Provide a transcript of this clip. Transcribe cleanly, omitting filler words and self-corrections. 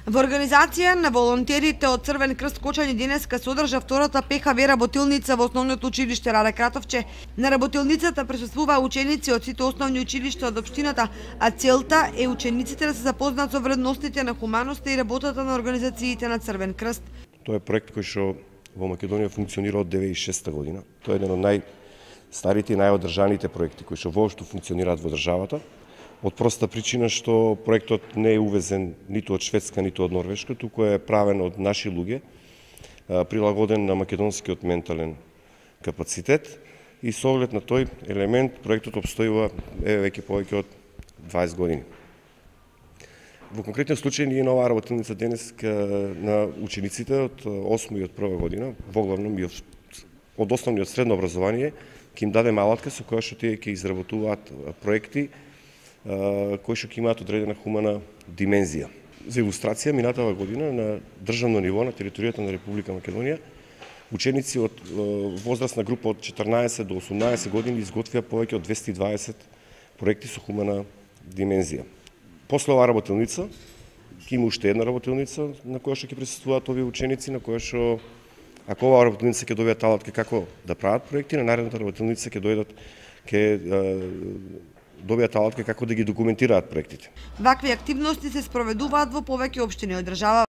Во организација на волонтерите од Црвен крст Кочани денеска се одржа втората ПХВ работилница во основното училиште Раде Кратовче. На работилницата присуствуваа ученици од сите основни училишта од општината, а целта е учениците да се запознаат со вредностите на хуманоста и работата на организациите на Црвен крст. Тоа е проект кој што во Македонија функционира од 2006 година. Тоа е еден од најстарите и најодржаните проекти кои што воопшто функционираат во државата. Од проста причина што проектот не е увезен ниту од Шведска, ниту од Норвешка, туку е правен од наши луѓе, прилагоден на македонскиот ментален капацитет и со оглед на тој елемент проектот обстојува веќе повеќе од 20 години. Во конкретниот случај ние на оваа работилница денес на учениците од 8 и од 1 година, воглавном и од основно и од средно образование, ќе им дадеме алатка со која што тие ќе изработуваат проекти кои што ќе имаат одредена хумана димензија. За илустрација, минатава година на државно ниво на територијата на Република Македонија, ученици од возрастна група од 14 до 18 години изготвија повеќе од 220 проекти со хумана димензија. После оваа работилница, ќе има уште една работилница на која што ќе присуствуваат овие ученици, на која што, ако оваа работилница ќе добијат алатка како да прават проекти, на наредната работилница ќе добијат алатка како да ги документираат проектите. Вакви активности се спроведуваат во повеќе општини од држава.